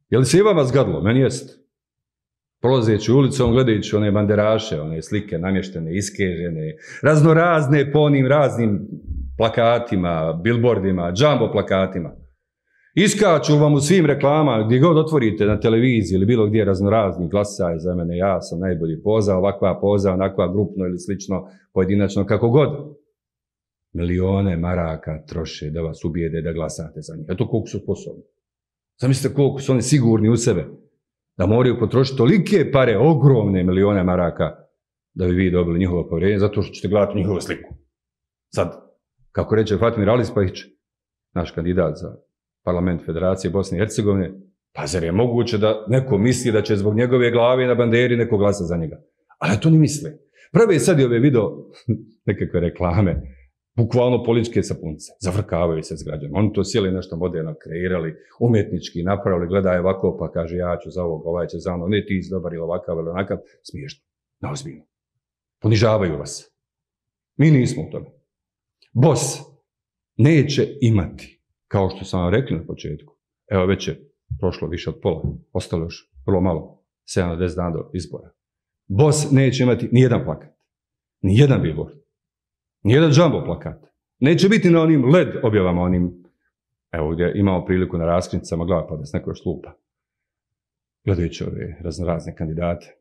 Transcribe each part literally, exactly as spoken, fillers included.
Je li se i vama zgadilo? Meni jest. Prolazeći ulicom, gledajući one banderaše, one slike namještene, iskežene, raznorazne po onim raznim plakatima, billboardima, jumbo plakatima. Iskaču vam u svim reklamama, gdje god otvorite na televiziji ili bilo gdje raznorazni glasaj za mene, ja sam najbolji poza, ovakva poza, onakva grupno ili slično, pojedinačno, kako god. Milione maraka troše da vas ubijede da glasate za njih. Eto koliko su sposobni. Zamislite koliko su oni sigurni u sebe. Da moraju potrošiti tolike pare, ogromne milione maraka, da bi vi dobili njihovo povjerenje, zato što ćete gledati njihovu sliku. Sad, kako reče Fatimir Alispahić, naš kandidat za parlament Federacije Bosne i Hercegovine, pa zar je moguće da neko misli da će zbog njegove glave na banderi neko glasa za njega? Ali to ne misle. Prve sad i ove video, nekakve reklame, bukvalno političke sapunce, zavrkavaju se s građanima. Oni to sjeli nešto moderno kreirali, umjetnički napravili, gledaju ovako, pa kaže ja ću za ovog, ovaj će za ono, ne ti si dobar ili ovakav ili onakav, smiješno, neozbiljno. Ponižavaju vas. Mi nismo u tome. Bos neće imati, kao što sam vam rekli na početku, evo već je prošlo više od pola, ostalo još vrlo malo, sedam do deset dana do izbora. Bos neće imati nijedan plakat, nijedan billboard, nijedan jumbo plakat. Neće biti na onim led objavama, onim, evo gdje imamo priliku na raskrinicama glava, pa da se neko još lupa, gledajući ove raznorazne kandidate.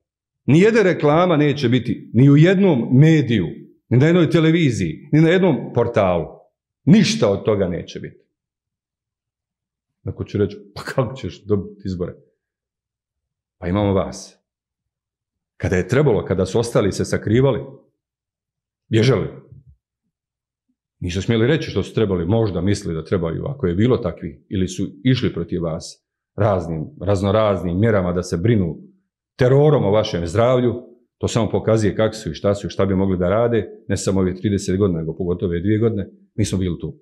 Nijedna reklama neće biti ni u jednom mediju, ni na jednoj televiziji, ni na jednom portalu. Ništa od toga neće biti. Neko će reći, pa kako ćeš dobiti izbore? Pa imamo vas. Kada je trebalo, kada su ostali se sakrivali, bježali. Nisu smjeli reći što su trebali, možda mislili da trebaju, ako je bilo takvi, ili su išli protiv vas raznim, raznoraznim mjerama da se brinu terorom o vašem zdravlju, to samo pokazuje kako su i šta su i šta bi mogli da rade, ne samo ove trideset godina, nego pogotovo ove dvije godine, mi smo bili tu.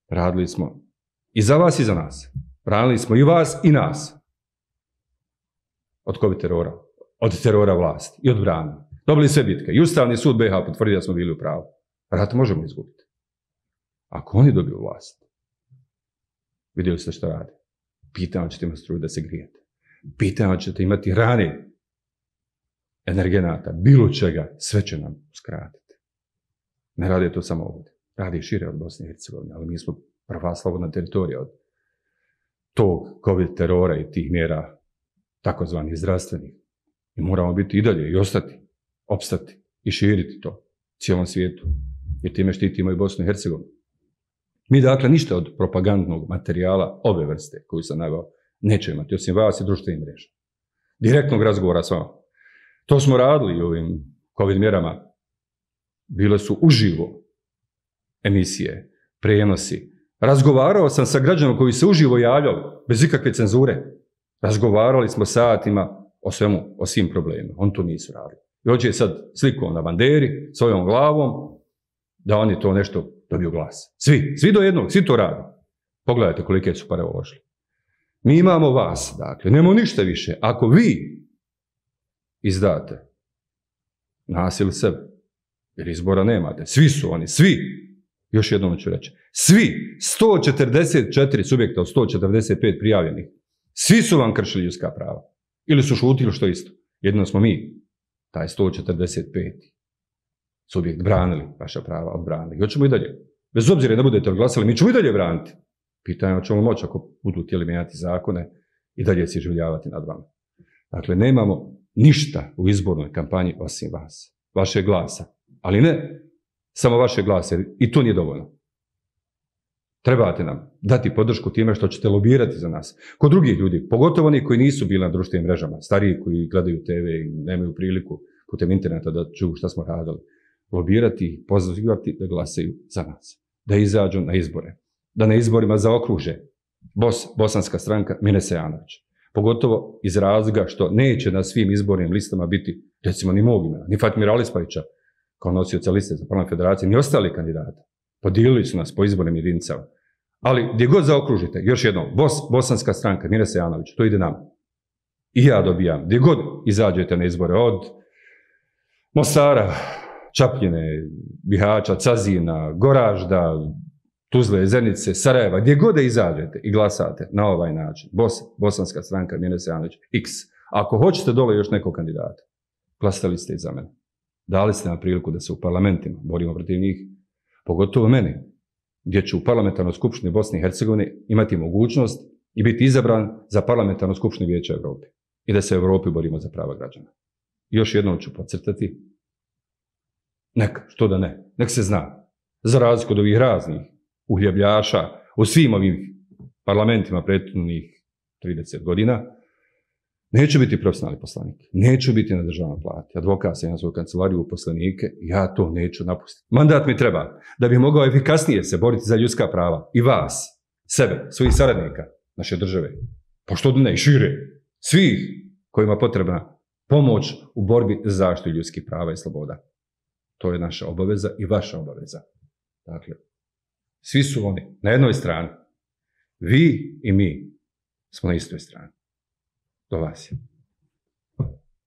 Radili smo i za vas i za nas. Branili smo i vas i nas. Od COVID terora, od terora vlasti i od brana. Dobili sve bitke. I Ustavni sud B iH potvrdio da smo bili u pravu. Rat možemo izgubiti. Ako oni dobiju vlast, vidjeli ste što rade. Pitanje ćete imati struju da se grijete. Pitanje ćete imati rane energenata, bilo čega, sve će nam uskratiti. Ne rade to samo ovdje. Rade i šire od Bosne i Hercegovine, ali mi smo prva slobodna teritorija od tog COVID terora i tih mjera takozvanih zdravstvenih. I moramo biti i dalje i ostati, opstati i širiti to cijelom svijetu. Jer time štitimo i Bosnu i Hercegovinu. Mi dakle ništa od propagandnog materijala ove vrste koju sam naveo neće imati, osim vas i društvenih mreža. Direktnog razgovora s vama. To smo radili u ovim COVID mjerama. Bile su uživo emisije, prenosi. Razgovarao sam sa građanima koji se uživo javljali, bez ikakve cenzure. Razgovarali smo satima o svemu, o svim problemima. Oni to nisu radili. I hoće sad slikom na banderi, svojom glavom, da oni to nešto dobiju glas. Svi, svi do jednog, svi to rade. Pogledajte kolike su pare uložili. Mi imamo vas, dakle, nemamo ništa više. Ako vi izdate nas ili sebe, jer izbora nemate, svi su oni, svi, još jednom ću reći, svi, sto četrdeset četiri subjekta od sto četrdeset pet prijavljenih, svi su vam kršili ljudska prava. Ili su šutili što isto. Jedino smo mi, taj sto četrdeset pet subjekt, branili vaša prava, odbranili. I hoćemo i dalje. Bez obzira da budete odglasali, mi ćemo i dalje braniti. Pitanje hoćemo moći ako budu htjeli mijenjati zakone i dalje se iživljavati nad vama. Dakle, nemamo ništa u izbornoj kampanji osim vas, vaše glasa. Ali ne samo vaše glasa, jer i to nije dovoljno. Trebate nam dati podršku time što ćete lobirati za nas. Kod drugih ljudi, pogotovo oni koji nisu bili na društvenim mrežama, stariji koji gledaju te ve i nemaju priliku putem interneta da čuju šta smo radili, lobirati i pozivati da glasaju za nas. Da izađu na izbore. Da na izborima zaokruže Bos, bosanska stranka Mine Sejanović. Pogotovo iz razloga što neće na svim izbornim listama biti, recimo, ni mog imena, ni Fatimira Alispahića, kao nosioca liste za parlament Federacije, ni ostali kandidati. Podijelili su nas po izbornim jedinicama. Ali gdje god zaokružite, još jednom, Bos, bosanska stranka Mine Sejanović, to ide nama. I ja dobijam. Gdje god izađete na izbore, od Mostara, Čapljine, Bihaća, Cazina, Goražda, Tuzle, Zenice, Sarajeva, gdje god da izađete i glasate na ovaj način, Bos, Bosanska stranka, Mjenes Janović, X. Ako hoćete dole još nekog kandidata, glasali ste i za mene. Dali ste nam priliku da se u parlamentima borimo protiv njih, pogotovo mene, gdje ću u parlamentarnoj skupštini Bosne i Hercegovine imati mogućnost i biti izabran za parlamentarnu skupštinu Vijeća Evrope i da se u Evropi borimo za prava građana. Još jednom ću podcrtati, neka, što da ne, nek se zna, za razliku od ovih raznih uhljebljaša u svim ovim parlamentima prethodnih trideset godina, neću biti profesionalni poslanik, neću biti na državnoj plati, advokat sam, ja svoju kancelariju u poslanike, ja to neću napustiti. Mandat mi treba da bih mogao efikasnije se boriti za ljudska prava i vas, sebe, svojih saradnika, naše države, pa što ne, i šire, svih kojima je potrebna pomoć u borbi za zaštitu ljudskih prava i sloboda. To je naša obaveza i vaša obaveza. Dakle, svi su oni na jednoj strani. Vi i mi smo na istoj strani. Do vas je.